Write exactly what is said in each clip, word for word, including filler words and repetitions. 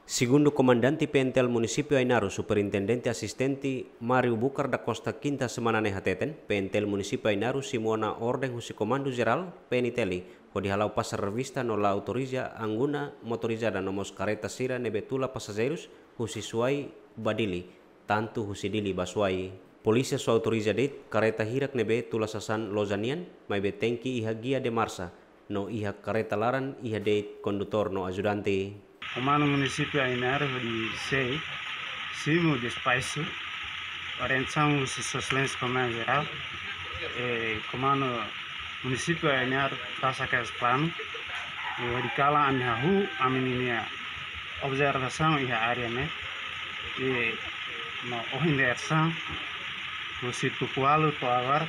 Segundu Komandante P N T L Munisípiu Ainaro, Superintendente Asistente Mário Bucar da Costa, kinta semana ne'e hateten, P N T L Munisípiu Ainaro simu ona orden husi Komandu Jerál P N T L hodi hala'o pasar revista no la autoriza anguna motorizada no mós kareta sira ne'ebé tula pasajeirus husi Suai ba Dili, tantu husi Dili ba Suai. Polísia só autoriza de'it kareta hirak ne'ebé tula sasán loja nian, maibé tenke iha guia de marcha, no iha kareta laran iha de'it kondutór no ajudante. Komandu Munisípiu Ainaro hodi sei simu despaxu orientasaun husi Sua Exelénsia Komandu Jerál, e Komandu Munisípiu Ainaro tasa kas planu, e hodi kalan ami hahú ami-nia observasaun iha área ne'e, e no ohin dadeer-saan husi tuku ualu to'o agora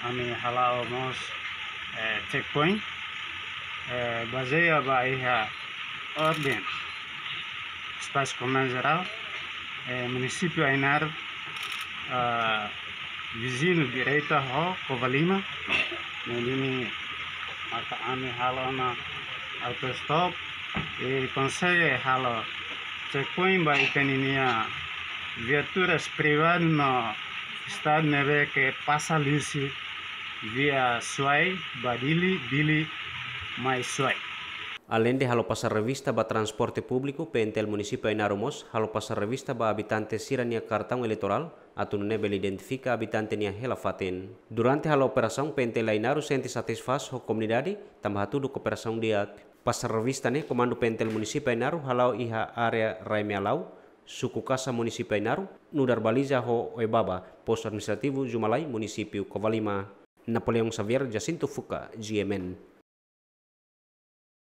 ami hala'o mós, eh, checkpoint, eh, bazeia ba iha orden Espasu Komandu Jerál, eh, Munisípiu Ainaro, ah, viziñu direta ho Covalima, ne'e duni maka ami halo ona autostop, e konsege halo checkpoint ba ita-nia viaturas privadu no Estadu ne'ebé ke pasa liuhusi via Suai ba Dili, Dili mai Suai. Aleinde halo pasar revista ba transporte públiku, P N T L Munisípiu Ainaro mós halo pasar revista ba abitante sira-nia kartaun eleitorál, atu nune'e bele identifika abitante nia hela fatin. Durante halo operasaun, P N T L Ainaro sente satisfás ho komunidade, tanba hatudu kooperasaun di'ak. Pasar revista ne'e Komandu P N T L Munisípiu Ainaro hala'o iha área Rai Mealau, suku Kasa, Munisípiu Ainaro, nu'udar baliza ho Oebaba, Postu Administrativu Jumalai, Munisípiu Covalima. Napoleão Xavier, Jacinto Fuca, G M N.